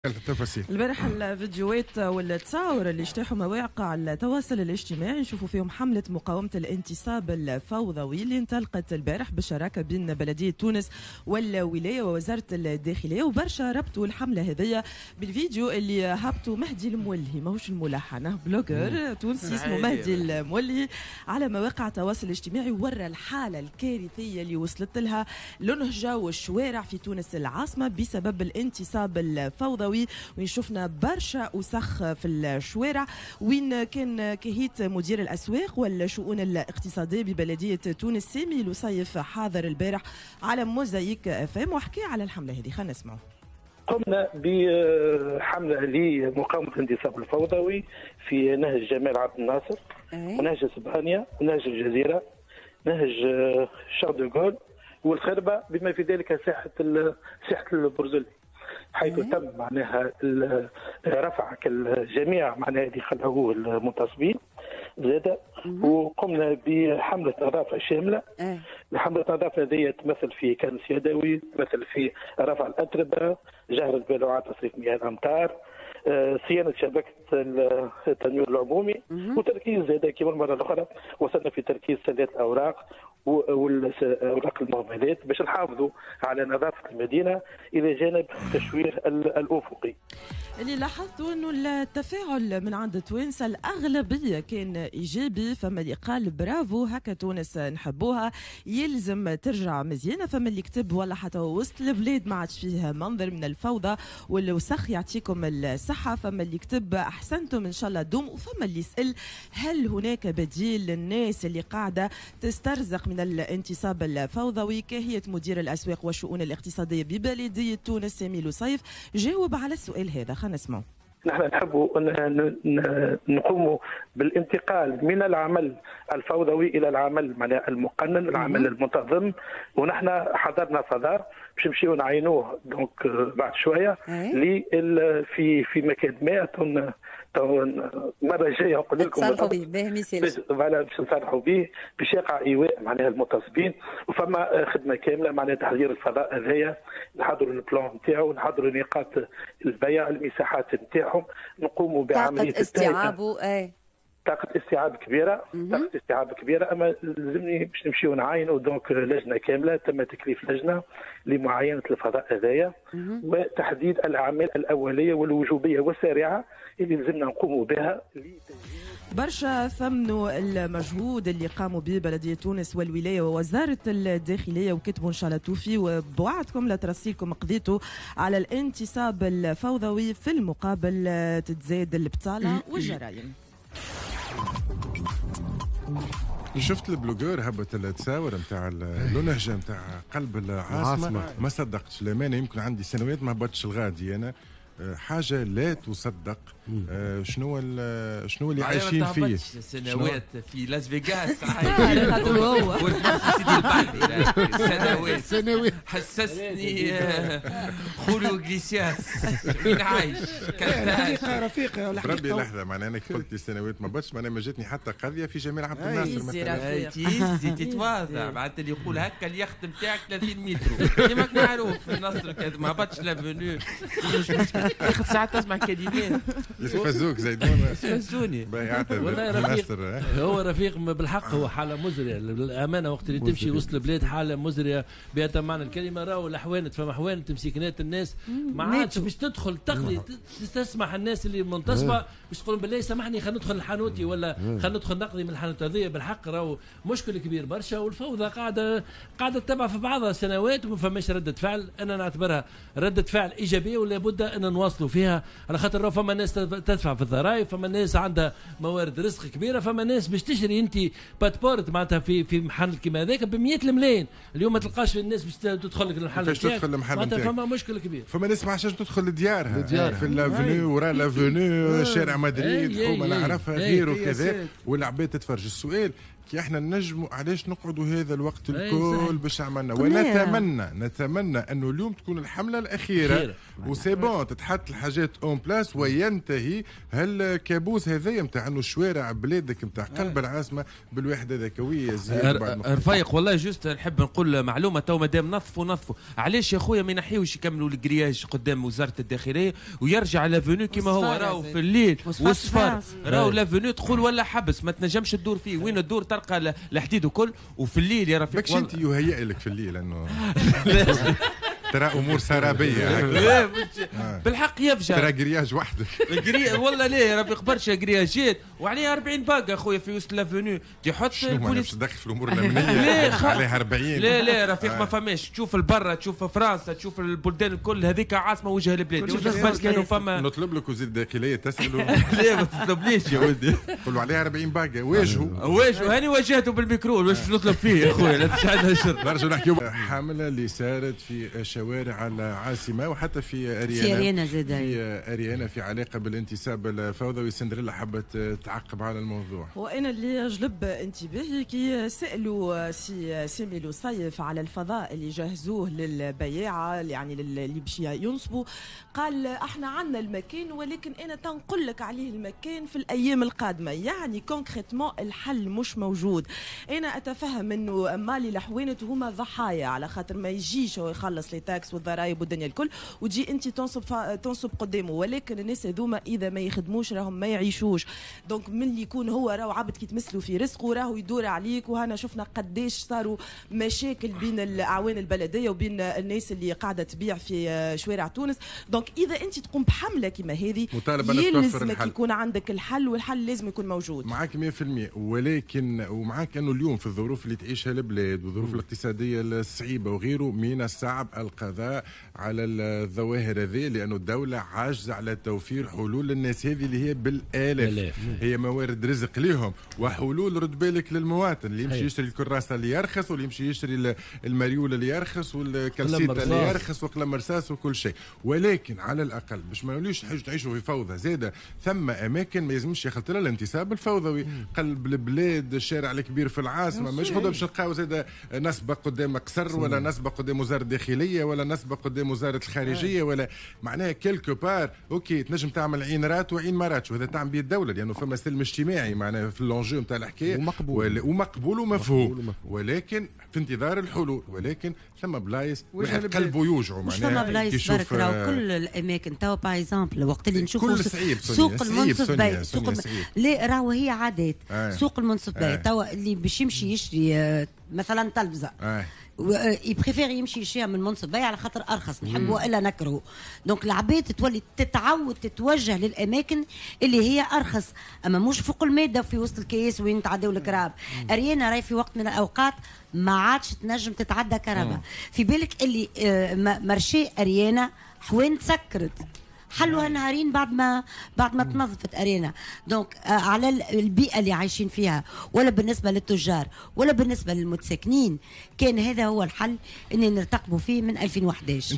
التفاصيل. البارح الفيديوهات والتصاور اللي اجتاحوا مواقع التواصل الاجتماعي نشوفوا فيهم حملة مقاومة الانتصاب الفوضوي اللي انطلقت البارح بالشراكة بين بلدية تونس والولاية ووزارة الداخلية، وبرشا ربطوا الحملة هذية بالفيديو اللي هبطوا مهدي المولهي، ماهوش الملحن، blogueur تونسي اسمه مهدي المولهي، على مواقع التواصل الاجتماعي، ورى الحالة الكارثية اللي وصلت لها الأنهجة والشوارع في تونس العاصمة بسبب الانتصاب الفوضوي، وين شفنا برشا وسخ في الشوارع، وين كان كهيت مدير الأسواق والشؤون الاقتصادية ببلدية تونس سامي لصيف حاضر البارح على موزايك FM وحكي على الحملة هذه. خلينا نسمعوا. قمنا بحملة لمقاومة الانتصاب الفوضوي في نهج جمال عبد الناصر ونهج اسبانيا ونهج الجزيرة، نهج شارل دوغول والخربة، بما في ذلك ساحة البرزولي، حيث تم معناها رفع الجميع معناها اللي خلعوه المنتصبين زاد. وقمنا بحملة نظافة شاملة. الحملة النظافة هذه تمثل في كنس يدوي، تمثل في رفع الأتربة، جهر البالوعات، تصريف مياه الأمطار، صيانة شبكة التنوير العمومي، وتركيز زاد كما المرة الأخرى وصلنا في تركيز سلات الأوراق والأوراق المهملات باش نحافظوا على نظافة المدينة، إلى جانب التشوير الأفقي. اللي لاحظتوا أنه التفاعل من عند التوانسة الأغلبية كان إيجابي، فما اللي قال برافو هكا تونس نحبوها يلزم ترجع مزيانة، فما اللي كتب ولا حتى وسط البلاد ما عادش فيه منظر من الفوضى والوسخ يعطيكم الصحة، فما اللي كتب أحسنتم إن شاء الله دوم، وفما اللي يسأل هل هناك بديل للناس اللي قاعدة تسترزق من الانتصاب الفوضوي. كهية مدير الأسواق والشؤون الاقتصادية ببلدية تونس سامي لصيف جاوب على السؤال هذا، خلينا نسمعه. نحن نحب نقوم بالانتقال من العمل الفوضوي الى العمل المقنن، العمل المنتظم، ونحن حضرنا فضاء باش نمشيو نعينوه donc بعد شوية في في مكان ما المرة الجاية نقول لكم نصرحوا به، باش نصرحوا به باش يقع ايواء معناها المنتصبين، وفما خدمة كاملة معناها تحضير الفضاء هذايا، نحضروا ال plan نتاعو، نحضروا نقاط البيع، المساحات نتاعهم، نقوموا بعملية استيعابه، طاقة استيعاب كبيرة، طاقة استيعاب كبيرة، أما لازمني باش نمشيو نعاينوا donc لجنة كاملة، تم تكليف لجنة لمعاينة الفضاء هذايا وتحديد الأعمال الأولية والوجوبية والسريعة اللي لازمنا نقوموا بها. برشا ثمنوا المجهود اللي قاموا به بلدية تونس والولاية ووزارة الداخلية، وكتبوا إن شاء الله توفي وبوعدكم لا ترسيلكم قضيته على الانتصاب الفوضوي، في المقابل تتزاد البطالة والجرائم. شفت ال blogueur هبط التصاور نتاع النهجه نتاع قلب العاصمة، ما صدقتش الامانة، يمكن عندي سنوات ما هبطتش الغادي انا، حاجة لا تصدق. شنو اللي عايشين فيه سنوات في لاس فيغاس سنوات سنوات حسسني خوليو إغليسياس وين عايش. الحقيقة رفيق ربي لحظة، معناها انا قلت لي سنوات ما بطش، معناها ما جاتني حتى قضية في جمال عبد الناصر مثلا. تيزي تتواضع معناتها اللي يقول هكا اليخت نتاعك 30 متر كيما معروف في النصر ما هبطش l'avenue، اخر ساعات تسمع كلمات يستفزوك زيدون، يستفزوني. والله رفيق، هو رفيق بالحق، هو حاله مزرية للامانة. وقت اللي تمشي وسط البلاد حاله مزرية بأتم معنى الكلمة. راهو الحوانت، فما حوانت مسكنات الناس ما عادش باش تدخل تقضي، تسمح الناس اللي منتصبه باش تقول بالله سامحني خلينا ندخل الحانوتي ولا خلينا ندخل نقضي من الحانوت هذيا. بالحق راهو مشكل كبير برشا، والفوضى قاعدة تتبع في بعضها سنوات وما فماش رده فعل. انا نعتبرها رده فعل ايجابية ولا بد ان نواصلوا فيها، على خاطر راهو فما ناس تدفع في الضرائب، فما ناس عندها موارد رزق كبيرة، فما ناس باش تشري انت باتبورت معناتها في محل كيما هذاك ب 100 الملايين، اليوم ما تلقاش الناس باش تدخل لك المحل، باش تدخل المحل معناتها فما مشكل كبير. فما ناس ما عادش تدخل لديارها في l'avenue ورا l'avenue شارع مدريد حومه نعرفها غيره كذا، والعباد تتفرج. السؤال كي احنا نجموا علاش نقعدوا هذا الوقت الكل باش عملنا؟ ونتمنى نتمنى انه اليوم تكون الحملة الاخيرة و c'est bon، تتحط الحاجات en place وينتهي هالكابوس هذايا نتاع انه الشوارع بلادك نتاع قلب العاصمة بالواحد هذاك. رفيق والله juste نحب نقول معلومة، تو مادام نظفوا نظفوا، علاش يا خويا ما ينحيوش يكملوا ال grillage قدام وزارة الداخلية ويرجع l'avenue كيما هو؟ راهو في الليل والصفر راهو l'avenue تقول ولا حبس، ما تنجمش تدور فيه، وين تدور تلقى الحديد وكل، وفي الليل يا رفيق ماكش انت يهيئ لك في الليل انه ترى امور سرابيه. بالحق يفجع ترى grillage وحدك. والله ليه يا رفيق برشا grillage ات وعليها 40 باقه خويا في وسط l'avenue تحط البوليس تدخل في الامور الامنية عليها 40. لا لا رفيق ما فماش، تشوف البرة، تشوف فرنسا، تشوف البلدان الكل، هذيك عاصمة وجه البلاد. كانوا فما نطلب لك وزير الداخلية تساله. لا ما تطلبليش يا ولدي، قول له عليها 40 باقه، واجهوا واجهوا، هاني واجهته بالميكرو، واش نطلب فيه يا خويا؟ لا تشعلها شر. نرجع نحكيو حمله اللي صارت في شوارع العاصمة وحتى في اريانا، في اريانا زاد، في اريانا في علاقة بالانتصاب الفوضوي. سندريلا حبت تعقب على الموضوع. وانا اللي جلب انتباهي كي سالوا سي سامي لوصيف على الفضاء اللي جهزوه للبياعه، يعني اللي باش ينصبوا، قال احنا عندنا المكان ولكن انا تنقل لك عليه المكان في الايام القادمة، يعني concrètement الحل مش موجود. انا اتفهم انه مالي الحوانت هما ضحايا على خاطر ما يجيش هو يخلص les taxes والضرائب والدنيا الكل وتجي انت تنصب قدامه، ولكن الناس هذوما اذا ما يخدموش راهم ما يعيشوش. donc من اللي يكون هو راهو عبد كي تمسلوا في رزقه راهو يدور عليك، وهنا شفنا قداش صاروا مشاكل بين الاعوان البلدية وبين الناس اللي قاعدة تبيع في شوارع تونس. donc اذا انت تقوم بحمله كما هذه يلزمك يكون عندك الحل، والحل لازم يكون موجود. معاك 100%، ولكن ومعاك انه اليوم في الظروف اللي تعيشها البلاد والظروف الاقتصادية الصعيبه وغيره من الصعب القضاء على الظواهر هذه، لانه الدولة عاجزه على توفير حلول للناس هذه اللي هي بالالاف، هي موارد رزق لهم وحلول. رد بالك للمواطن اللي يمشي يشتري الكراسة اللي يرخص، واللي يمشي يشتري المريول اللي يرخص، والكالسيتا اللي يرخص، وقلم رصاص وكل شيء. ولكن على الاقل باش ما نوليوش حاجة تعيشوا في فوضى زاده، ثم اماكن ما يلزمش يخلط لها الانتصاب الفوضوي. قلب البلاد، الشارع الكبير في العاصمة، مش غدوه باش نلقاو زاده نسبه قدام قصر، ولا نسبه قدام وزارة الداخلية، ولا نسبه قدام وزارة الخارجية، ولا معناها quelque part OK تنجم تعمل عين رات وعين ما راتش، وهذا تعمل به الدولة لانه فما سلم اجتماعي معناها في l'enjeu نتاع الحكاية، ومقبول ومقبول ومفهوم، ولكن في انتظار الحلول. ولكن ثم بلايص واحد قلبه يوجعه، مش فما بلايص برك، راهو كل الاماكن توا par exemple وقت اللي نشوفوا سوق المنصف باي، سوق لا راهو هي عادات سوق المنصف باي توا اللي باش يمشي يشري مثلا تلفزه ي préfère يمشي يشريها من منصف باي على خاطر ارخص، نحبه والا نكرهه. donc العباد تولي تتعود تتوجه للاماكن اللي هي ارخص، اما مش فوق المادة في وسط الكياس وين تعداو الكراب. اريانا راهي في وقت من الاوقات ما عادش تنجم تتعدى كرهبه. في بالك اللي marché اريانا حوين تسكرت، حلوها نهارين بعد ما تنظفت اريانا. donc على البيئة اللي عايشين فيها، ولا بالنسبة للتجار ولا بالنسبة للمتساكنين، كان هذا هو الحل اللي نرتقبوا فيه من 2011.